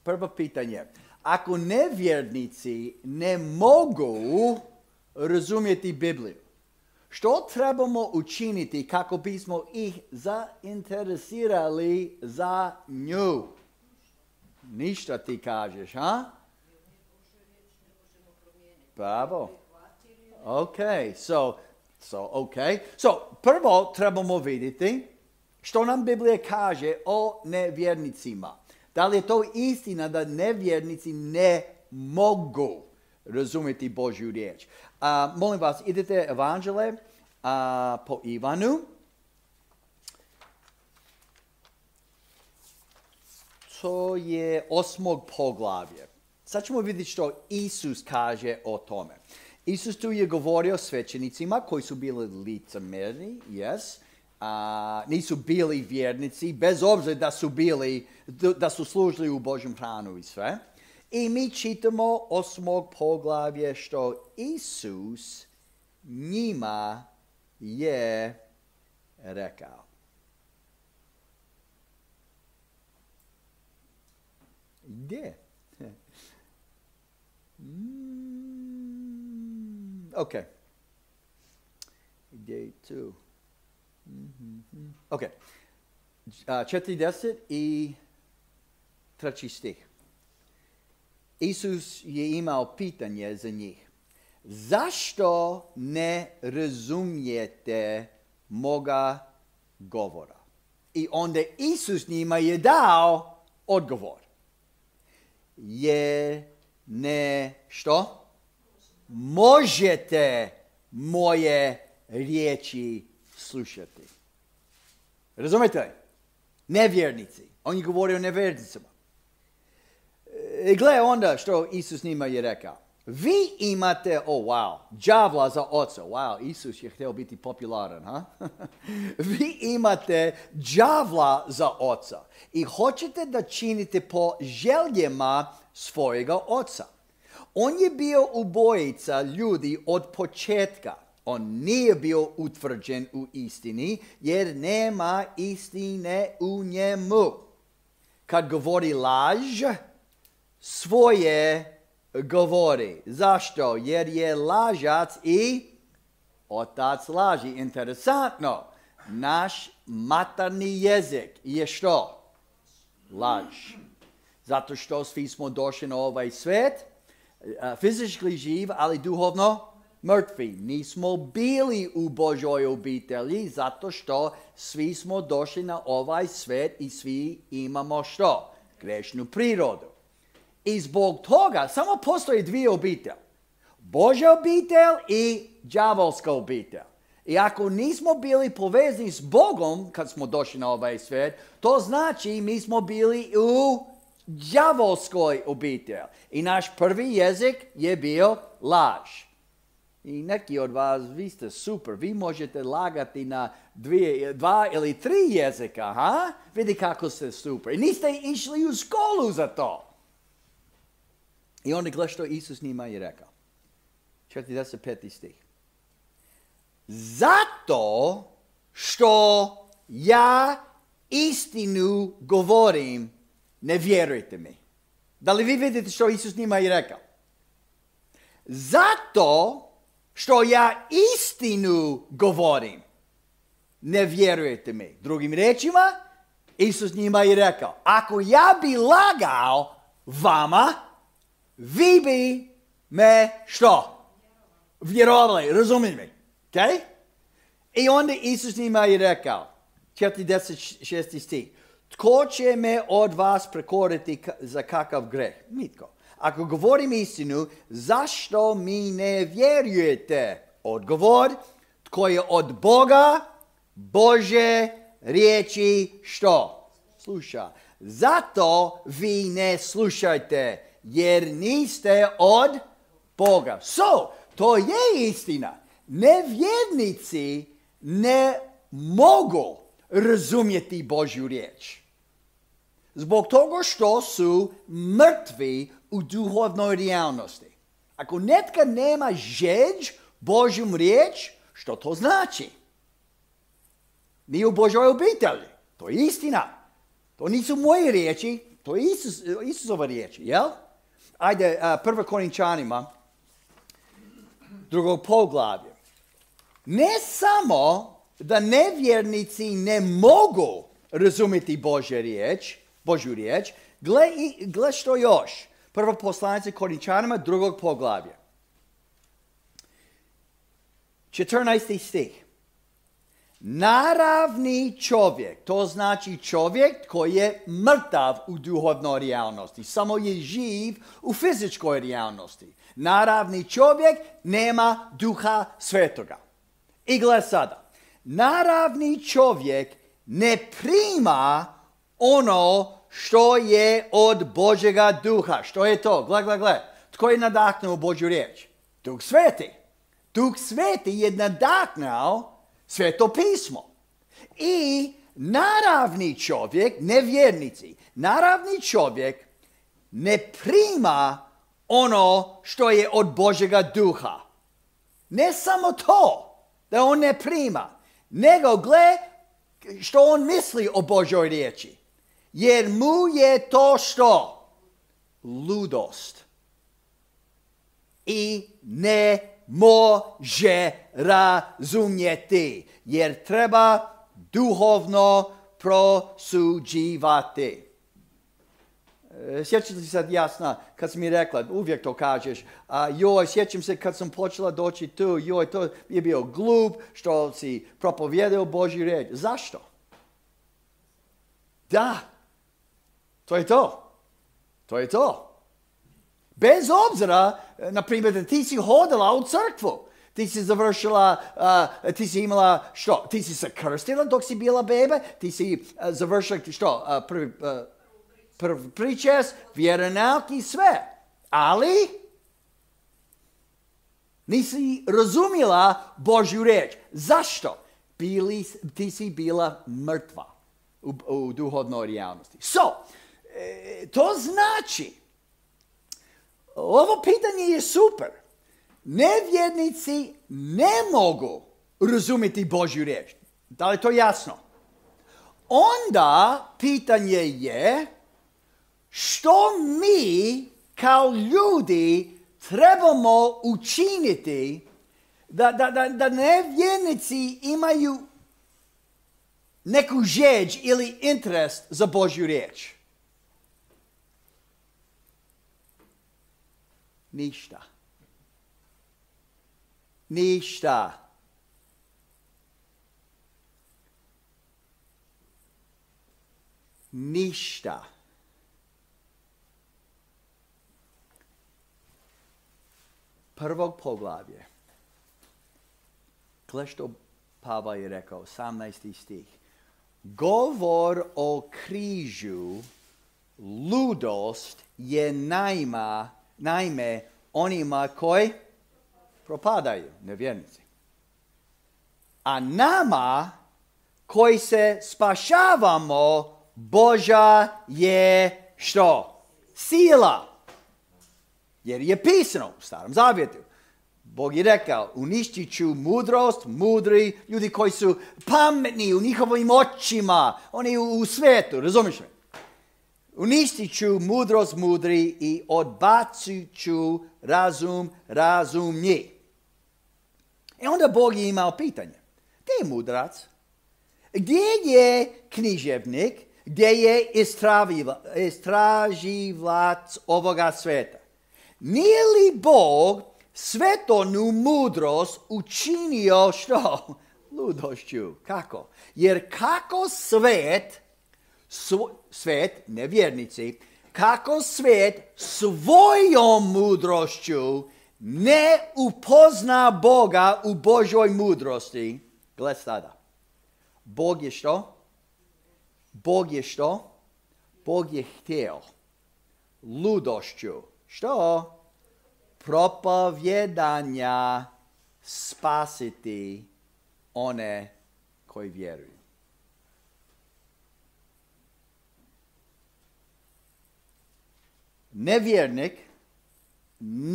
prvo pitanje. Ako nevjernici ne mogu razumjeti Bibliju, što trebamo učiniti kako bismo ih zainteresirali za nju? Ništa ti kažeš, ha? Bravo. Okay, so prvo trebamo vidjeti što nam Biblija kaže o nevjernicima. Da li je to istina da nevjernici ne mogu razumjeti Božju riječ? Molim vas, idete evanđele po Ivanu. To je 8. poglavlje. Sad ćemo vidjeti što Isus kaže o tome. Isus tu je govorio svećenicima koji su bili licemjerni, nisu bili vjernici, bez obzira da su služili u Božjem hranu i sve. I mi čitamo 8. poglavlje što Isus njima je rekao. Gdje? Ok. Gdje je tu? Ok. 40 i 3. stih. Isus je imao pitanje za njih. Zašto ne razumijete moga govora? I onda Isus njima je dao odgovor. Što? Možete moje riječi slušati. Razumete? Nevjernici. On je govorio o nevjernicima. Gle onda što Isus njima je rekao. Vi imate, đavla za oca. Wow, Isus je htio biti popularan, ha? Vi imate đavla za oca i hoćete da činite po željama svojega oca. On je bio ubojica ljudi od početka. On nije bio utvrđen u istini jer nema istine u njemu. Kad govori laž, svoje govori. Zašto? Jer je lažac i otac laži. Interesantno. Naš materni jezik je što? Laž. Zato što svi smo došli na ovaj svijet, fizički živ, ali duhovno mrtvi. Nismo bili u Božoj obitelji zato što svi smo došli na ovaj svijet i svi imamo što? Grešnu prirodu. I zbog toga samo postoji dvije obitelji. Božja obitelj i đavolska obitelj. I ako nismo bili povezani s Bogom kad smo došli na ovaj svijet, to znači mi smo bili u đavolskoj obitelji. I naš prvi jezik je bio laž. I neki od vas, vi ste super, vi možete lagati na 2 ili 3 jezika, ha? Vidi kako ste super. I niste išli u školu za to. I onda gleda što Isus njima je rekao. 45. stih. Zato što ja istinu govorim, ne vjerujte mi. Da li vi vidite što Isus njima je rekao? Zato što ja istinu govorim, ne vjerujete mi. Drugim riječima, Isus njima je rekao, ako ja bi lagao vama, vi bi me što? Vjerovali, razumijete mi? Okay? I onda Isus njima je rekao, 46. stih, tko će me od vas prekoriti za kakav greh? Nitko. Ako govorim istinu, zašto mi ne vjerujete? Odgovor, tko je od Boga, Bože riječi što? Sluša. Zato vi ne slušajte, jer niste od Boga. To je istina. Nevjernici ne mogu razumjeti Božju riječ. Zbog toga što su mrtvi u duhovnoj realnosti. Ako netko nema žeđ Božjom riječ, što to znači? Nije u Božoj obitelji. To je istina. To nisu moje riječi. To je Isusova riječ, jel? Ajde, 1. Korinčanima, 2. poglavlje. Ne samo da nevjernici ne mogu razumjeti Božju riječ, gle što još. 1. poslanice Korinčanima, 2. poglavlje. 14. stih. Naravni čovjek, to znači čovjek koji je mrtav u duhovnoj realnosti, samo je živ u fizičkoj realnosti. Naravni čovjek nema duha svetoga. I gle sada, naravni čovjek ne prima ono što je od Božjega duha. Što je to? Gle. Tko je nadahnuo Božju riječ? Duh Sveti. Duh Sveti je nadahnuo Sveto pismo. I naravni čovjek, nevjernici, naravni čovjek ne prima ono što je od Božjega duha. Ne samo to da on ne prima, nego gle što on misli o Božoj riječi. Jer mu je to što? Ludost. I ne može razumjeti, jer treba duhovno prosuđivati. Sjećate se sad jasno, kad sam mi rekla, uvijek to kažeš, sjećam se kad sam počela doći tu, to je bio glup što si propovijedao Božju riječ. Zašto? Da, to je to. To je to. Bez obzira, na primjer, da ti si hodila u crkvu, ti si završila, ti si imala što? Ti si se krstila dok si bila bebe, ti si završila što? Prvi pričest, vjeronauk i sve. Ali nisi razumjela Božju riječ. Zašto? Ti si bila mrtva u duhovnoj realnosti. To znači, ovo pitanje je super. Nevjernici ne mogu razumjeti Božju riječ. Da li je to jasno? Onda pitanje je što mi kao ljudi trebamo učiniti da nevjernici imaju neku žeđ ili interes za Božju riječ. Ništa. Prvog poglavlje. Gle što Pavao je rekao, 18. stih. Govor o križu, ludost je naime onima koji propadaju, nevjernici. A nama koji se spašavamo, Božja je što? Sila. Jer je pisano u Starom Zavjetu. Bog je rekao, uništit ću mudrost, mudri, ljudi koji su pametni u njihovim očima, oni u svijetu, razumiješ me? Uništit ću mudrost mudri i odbacit ću razum razumnji. I onda Bog je imao pitanje. Gdje je mudrac? Gdje je književnik? Gdje je istraživac ovoga svijeta? Nije li Bog svetonu mudrost učinio što? Ludošću. Kako? Jer kako svet, nevjernici, kako svet svojom mudrošću ne upozna Boga u Božoj mudrosti. Gle sada. Bog je što? Bog je htio ludošću. Što? Propovjedanja spasiti one koji vjeruju. Nevjernik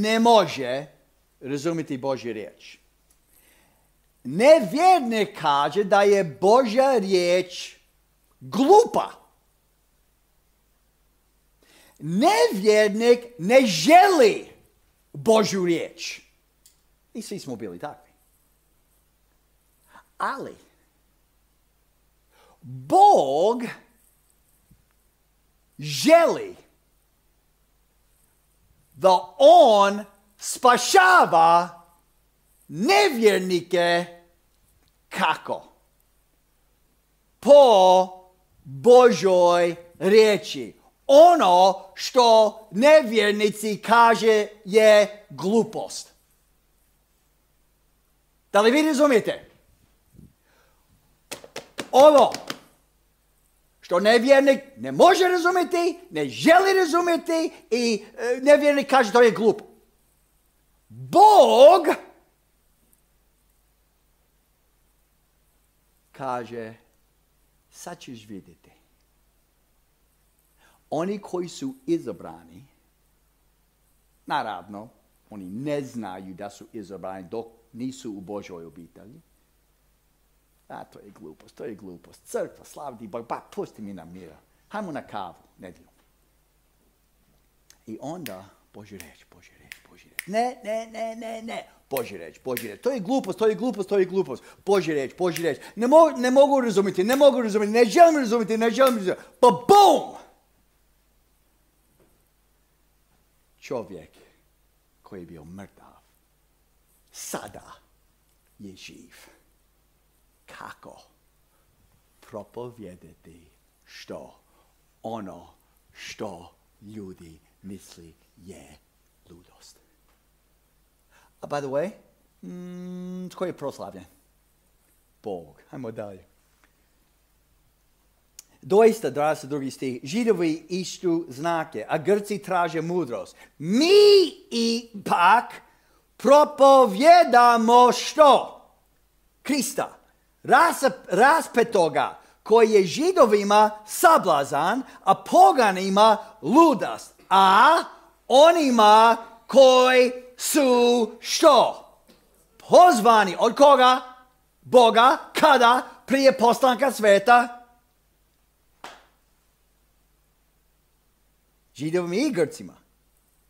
ne može razumjeti Božju riječ. Nevjernik kaže da je Božja riječ glupa. nevjernik ne želi Božju riječ. I svi smo bili takvi. Ali Bog želi da on spašava nevjernike kako? Po Božoj riječi. Ono što nevjernici kaže je glupost. Da li vi razumijete? Ovo što nevjernik ne može razumjeti, ne želi razumjeti i nevjernik kaže to je glupo. Bog kaže, sad ćeš vidjeti. Oni koji su izabrani, naravno, oni ne znaju da su izabrani dok nisu u Božoj obitelji. A, to je glupost, to je glupost. Crkva, slavdi Bog, ba, pusti mi na mira. Hajmo na kavu, nedjeljom. I onda, Božja riječ. Ne. Božja riječ. To je glupost. Božja riječ. Ne mogu razumjeti, ne želim razumjeti. Pa bum! Čovjek koji je bio mrtav, sada je živ. Kako propovijedati ono što ljudi misli je ludost. A by the way, tko je proslavljen? Bog. Hajmo dalje. Doista, 22. stih, Židovi istu znake, a Grci traže mudrost. Mi ipak propovjedamo što? Krista. Raspetoga koji je Židovima sablazan, a poganima ludost. A onima koji su što? Pozvani. Od koga? Boga. Kada? Prije postanka sveta. Židovima i Grcima.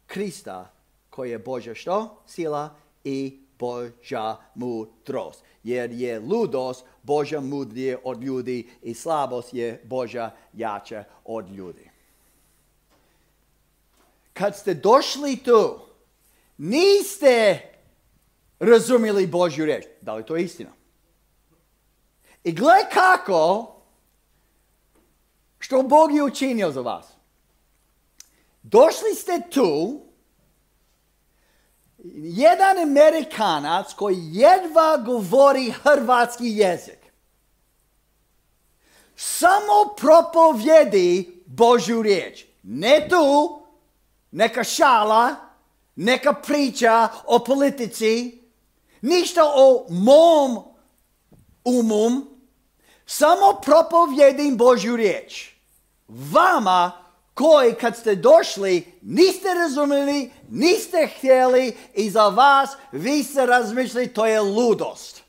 Krista koji je Božja što? Sila i Božja mudrost. Jer je ludost Božja mudrije od ljudi i slabost je Božja jača od ljudi. Kad ste došli tu, niste razumjeli Božju riječ. Da li to je istina? I gle kako, što Bog je učinio za vas. Došli ste tu, jedan Amerikanac koji jedva govori hrvatski jezik. Samo propovjedi Božju riječ. Ne tu, neka šala, neka priča o politici, ništa o mom umum, samo propovjedim Božju riječ. Vama koji kad ste došli niste razumjeli, niste htjeli i za vas vi ste razmišljali to je ludost.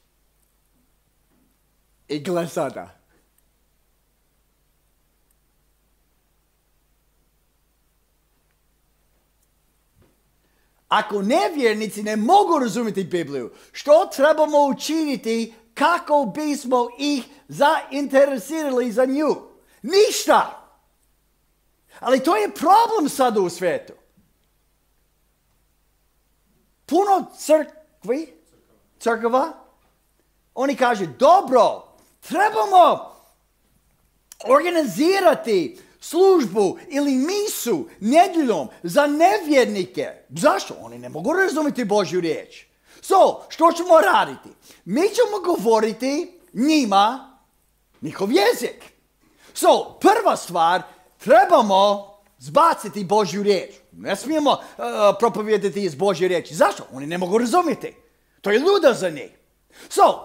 I gle sada. Ako nevjernici ne mogu razumjeti Bibliju, što trebamo učiniti kako bismo ih zainteresirali za nju? Ništa! Ali to je problem sada u svijetu. Puno crkava, oni kažu, dobro, trebamo organizirati službu ili misu nedjeljom za nevjernike. Zašto? Oni ne mogu razumjeti Božju riječ. Što ćemo raditi? Mi ćemo govoriti njima njihov jezik. Prva stvar, trebamo zbaciti Božju riječ. Ne smijemo propovijedati iz Božje riječi. Zašto? Oni ne mogu razumjeti. To je ludo za njih.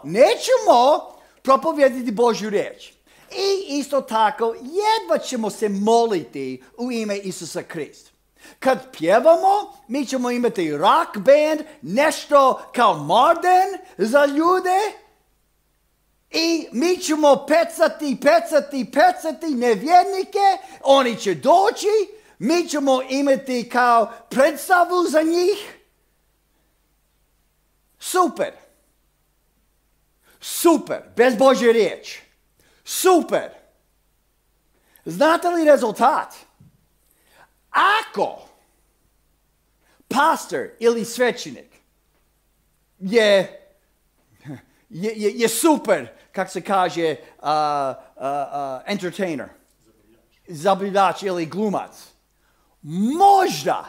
Nećemo propovijedati Božju riječ. I isto tako, jedva ćemo se moliti u ime Isusa Krista. Kad pjevamo, mi ćemo imati rock band, nešto kao Marden za ljude. I mi ćemo pecati nevjernike, oni će doći, mi ćemo imati kao predstavu za njih. Super. Super. Bez Božje riječi. Super. Znate li rezultat? Ako pastor ili svećenik je super, kako se kaže, entertainer, zabavljač ili glumac, možda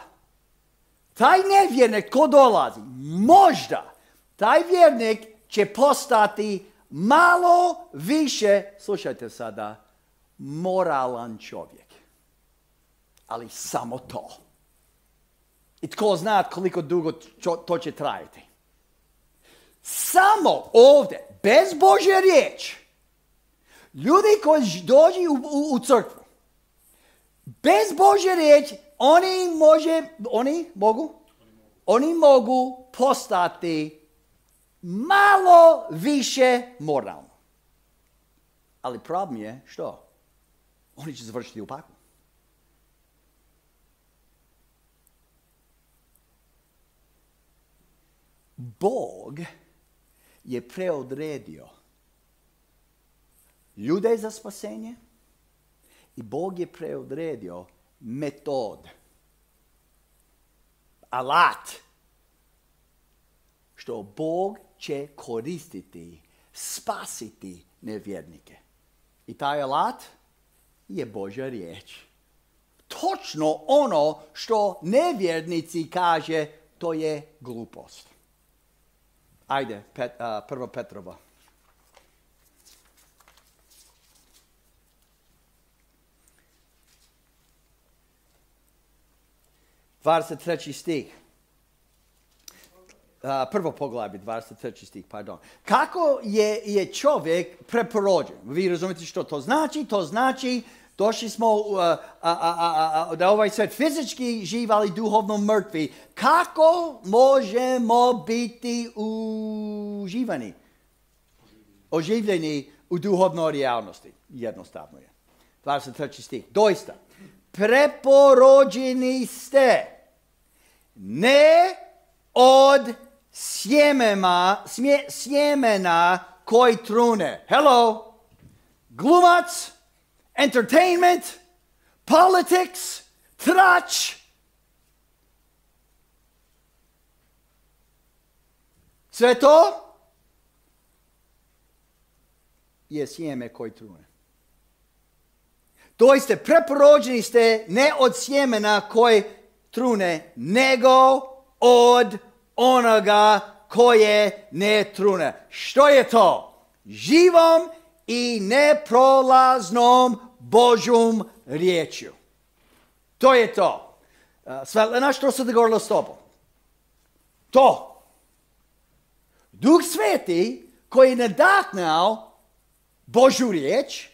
taj nevjernik ko dolazi, možda taj vjernik će postati malo više, slušajte sada, moralan čovjek. Ali samo to. I tko zna koliko dugo to će trajati. Samo ovdje, bez Božje riječi, ljudi koji dođu u crkvu, bez Božje riječi, oni mogu postati malo više moralni. Ali problem je što? Oni će završiti u paklu. Bog je preodredio ljude za spasenje i Bog je preodredio metod, alat, što Bog će koristiti, spasiti nevjernike. I taj alat je Božja riječ. Točno ono što nevjernici kaže, to je glupost. Ajde, 1. Petrova. 23. stih. Prvo poglavlje, 23. stih, pardon. Kako je čovjek preporođen? Vi razumijete što to znači? To znači došli smo da ovaj svijet fizički živ, ali duhovno mrtvi. Kako možemo biti oživljeni u duhovnoj realnosti? Jednostavno je. 23. stih. Doista, preporođeni ste ne od sjemena koji trune. Hello, glumac, entertainment, politics, trač. Sve to je sjeme koji trune. Doista, preporođeni ste ne od sjemena koji trune, nego od onoga koje ne trune. Što je to? Živom i neprolaznom Božjom riječju. To je to. Svetlana, što se dogovorilo s tobom? To. Duh Sveti koji je nadahnao Božju riječ,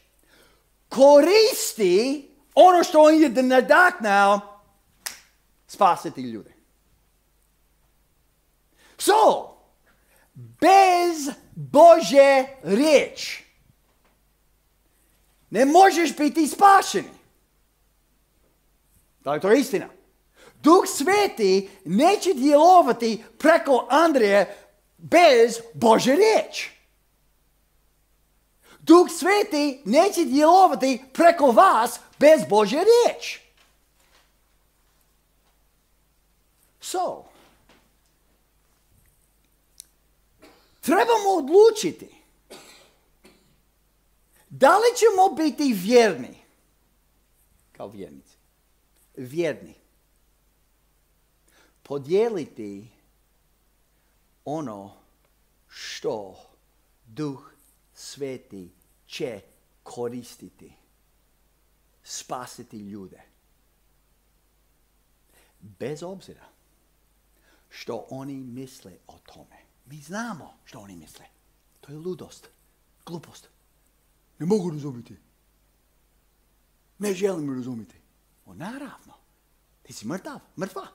koristi ono što on je nadahnao spasiti ljude. So, bez Božje riječi ne možeš biti spašeni. Da li to je istina? Duh Sveti neće djelovati preko Andreje bez Božje riječi. Duh Sveti neće djelovati preko vas bez Božje riječi. So, trebamo odlučiti da li ćemo biti vjerni kao vjernici. Vjerni. Podijeliti ono što Duh Sveti će koristiti, spasiti ljude. Bez obzira što oni misle o tome. Mi znamo što oni misle. To je ludost, glupost. Ne mogu razumjeti. Ne želim razumjeti. Naravno, ti si mrtva.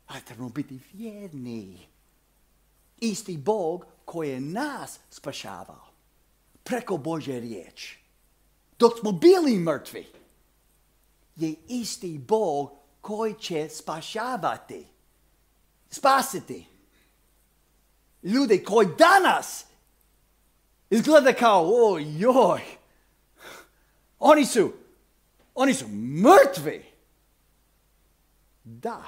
Ali trebamo biti vjerni. Isti Bog koji je nas spašavao preko Božje riječi. Dok smo bili mrtvi, je isti Bog koji će spašavati, spasiti ljude koji danas izgleda kao, ojoj, oni su mrtvi. Da.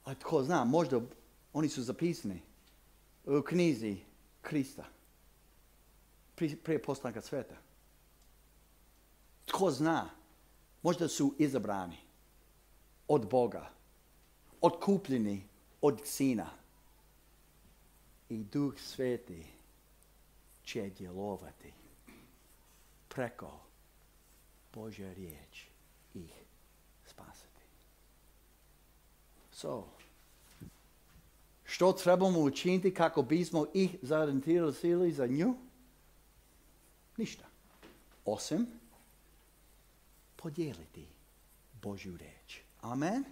A tko zna, možda oni su zapisani u knjizi Krista. Prije postanka sveta. Tko zna, možda su izabrani od Boga, otkupljeni od Sina. I Duh Sveti će djelovati preko Božja riječ ih spasiti. Što trebamo učiniti kako bismo ih zainteresirali za nju? Ništa. Osim podijeliti Božju riječ. Amen.